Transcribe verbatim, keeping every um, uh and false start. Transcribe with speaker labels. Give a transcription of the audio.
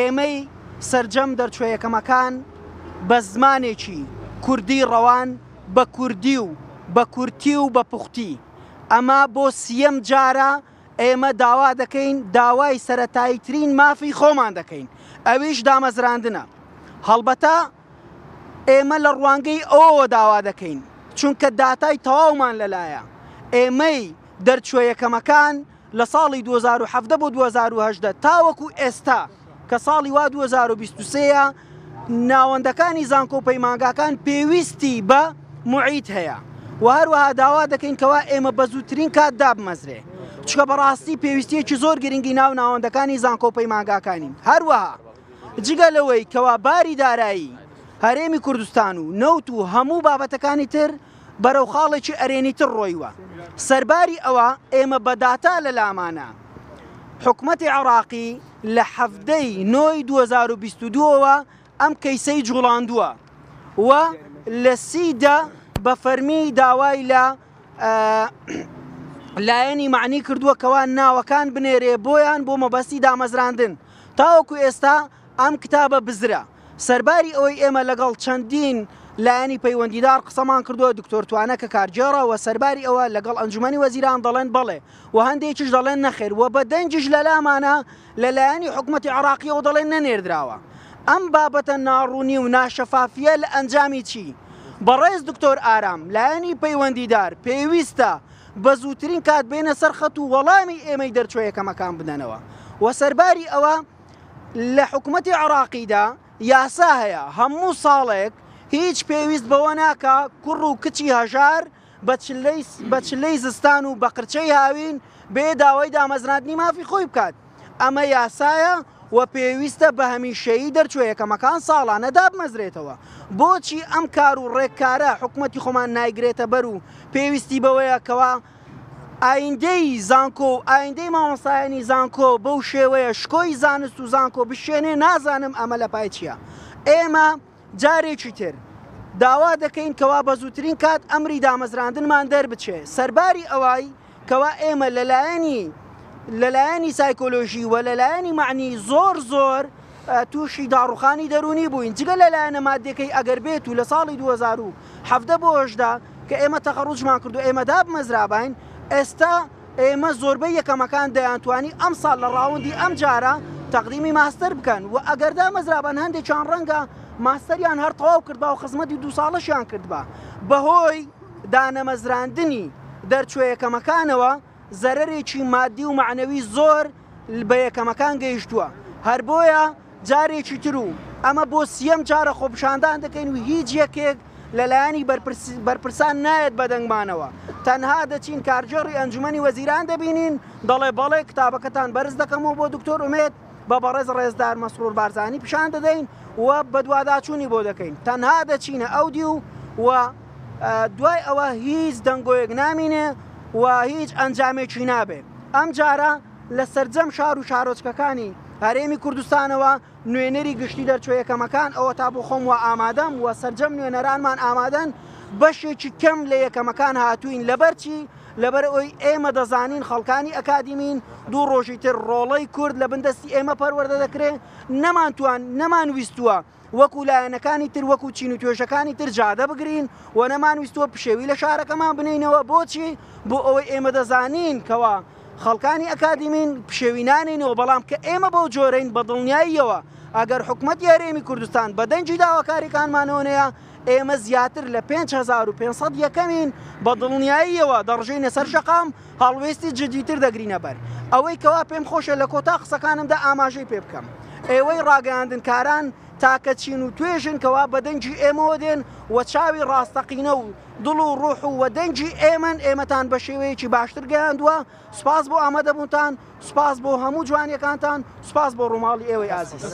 Speaker 1: ئێمەی سەرجەم دەرچوە یەکەمەکان بە زمانێکی کوردی ڕەوان، بە کوردی و بە کورتی و بە پوختی، ئەمە بۆ سیەم جارە ئێمە داوا دەکەین، داوای سەرەتاییترین مافی خۆمان دەکەین، ئەویش دامەزراندنە. هەڵبەتە ئێمە لە ڕوانگەی ئەوەوە داوا دەکەین، چونکە داتای تەواومان لەلایە. ئێمەی دەرچوە یەکەمەکان لە ساڵی دوو هەزار و حەڤدە بۆ دوو هەزار و هەژدە تاوەکو ئێستا کە ساڵی وا دوو هەزار و بیست و سێ ناوەندەکانی زانکۆ و پەیمانگاکان پێویستی بە معید هەیە و هەروەها داوا دەکەین کەوا ئێمە بە زووترین کات دابمەزرێ، چونکە بەڕاستی پێویستیەکی زۆر گرنگی ناو ناوەندەکانی زانکۆ و پەیمانگاکانین. هەروەها جگە لەوەی کەوا باری دارایی هەرێمی کوردستان و نەوت و هەموو بابەتەکانی تر بەرەو خاڵێکی ئەرێنیتر ڕۆیوە، سەرباری ئەوە ئێمە بە داتا لە لامانە حکومەتی عێراقی لە حەڤدەی نۆی دوو هەزار و بیست و دووەوە ئەم کەیسەی جوڵاندووە و لە سی دە بە فەرمی داوای لە لایەنی معنی کردووە کەوا ناوەکان بنێرێ بۆیان بۆ مەبەستی دامەزراندن. تاوەکو ئێستا ئەم کتابە بزرە. سەرباری ئەوەی ئێمە لەگەڵ چەندین لایەنی پەیوەندیدار قسەمان کردووە، دکتۆر توانە کە کارگێڕە و سەرباری ئەوە لەگەڵ ئەنجومەنی وەزیران دەڵێن بەڵێ و هەندێکیش دەڵێن نەخێر و بە دەنگیش لەلامانە لە لایەنی حکومەتی عێراقیەوە دەڵێن نەنێردراوە. ئەم بابەتە ناڕوونی و ناشەفافیە لە ئەنجامی چی؟ بەڕێز دکتۆر ئارام لایەنی پەیوەندیدار پێویستە بە زووترین کات بێنە سەر خەت و وەڵامی ئێمەی دەرچوە یەکەمەکان بدەنەوە. و سەرباری ئەوە لە حکومەتی عێراقیدا یاسا هەیە هەموو ساڵێک هیچ پێویست بەوە ناکا کوڕ و کچی هەژار بە چلەی زستان و بە قرچەی هاوین بێ داوای دامەزراندنی مافی خۆی بکات. ئەمە یاسایە و پێویستە بە هەمیشەیی دەرچوە یەکەمەکان ساڵانە دابمەزرێتەوە. بۆچی ئەم کار و ڕێککارە حکومەتی خۆمان نایگرێتە بەر و پێویستی بەوەیە کەوا ئایندەی زانکۆ و ئایندەی مامۆستایانی زانکۆ بەو شێوەیە شکۆی زانست و زانکۆ بشێنێ؟ نازانم ئەمە لە پای چییە. ئێمە جارێکی تر داوا دەکەین کەوا بە زووترین کات ئەمری دامەزراندنمان دەربچێ. سەرباری ئەوای کەوا ئێمە لەلایەنی لەلایەنی سایکۆلۆژی و لەلایەنی معنی زۆر زۆر تووشی داڕوخانی دەرونی بووین، جگە لەلایەنە مادەکەی ئەگەر بێت و لە ساڵی دوو هەزار و حەڤدە بۆ هەژدە کە ئێمە تەخەڕوجمان کرد و ئێمە دابمەزراباین، ئێستا ئێمە زۆربەی یەکەمەکان دەیانتوانی ئەم ساڵ لە ڕاوندی ئەم جارە تەقدیمی ماستەر بکەن و ئەگەر دامەزرابان هەندێکیان ڕەنگە ماستەریان هەر تەواو کردبا و خزمەتی دوو ساڵەشیان کردبا. بەهۆی دانەمەزراندنی دەرچوە یەکەمەکانەوە زەرەرێکی مادی و معنەوی زۆر بە یەکەمەکان گەیشتووە. هەر بۆیە جارێکی تر و ئەمە بۆ سیەم جارە خۆپیشاندان دەکەین و هیچ یەکێک لەلایەنی بەرپرسان نایەت بەدەنگمانەوە. تەنها دەچین کارگێڕی ئەنجومەنی وەزیران دەبینین دەڵێ بەڵێ کتابەکەتان بەرز دەکەمەوە بۆ دکتۆر ئومێد، بە بەڕێز ڕێزدار مەسرور بارزانی پیشان دەدەین و بەدواداچوونی بۆ دەکەین. تەنها دەچینە ئەو دیو و دوای ئەوە هیچ دەنگۆیەک نامینێ و هیچ ئەنجامێکی نابێ. ئەم جارە لە سەرجەم شار و شارۆچکەکانی هەرێمی کوردستانەوە نوێنەری گشتی دەرچوە یەکەمەکان ئەوە تا بۆ خۆم وە ئامادەم و سەرجەم نوێنەرانمان ئامادەن. بەشێکی کەم لە یەکەمەکان هاتوین. لەبەرچی؟ لەبەر ئەوی ئێمە دەزانین خەڵکانی ئەکادیمین دوو ڕۆژی تر ڕۆڵەی کورد لە بندەستی ئێمە پەروەردە دەکرێت. نەمانتوان نەمان ویستووە وەکو لایەنەکانی تر وەکو چین و توێژەکانی تر جادە بگرین و نەمان ویستووە پشێوی لە شارەکەمان بنینەوە. بۆچی؟ بۆ ئەوەی ئێمە دەزانین کەوا خەڵکانی ئەکادیمین پشێوی نانینەوە. بەڵام کە ئێمە بەو جۆرەین بە دڵنیاییەوە ئەگەر حکومەتی هەرێمی کوردستان بە دەنگی داواکاریەکانمانەوە نەیە، ئێمە زیاتر لە پێنج هەزار و پێنج سەد یەکەمین بە دڵنیاییەوە دەڕژێینە سەر شەقام، هەڵوێستی جدیتر دەگرینە بەر. ئەوەی کەوا پێم خۆشە لە کۆتا قسەکانمدا ئاماژەی پێ بکەم، ئێوەی ڕاگەیاندنکاران تاکە چین و توێژن کەوا بە دەنگی ئێمەوە دێن و چاوی ڕاستەقینە و دڵ و ڕوح و دەنگی ئێمەن ئێمەتان بە شێوەیەکی باشتر گەیاندووە. سوپاس بۆ ئامادەبوونتان، سوپاس بۆ هەموو جوانیەکانتان، سوپاس بۆ ڕووماڵی ئێوەی ئازیز.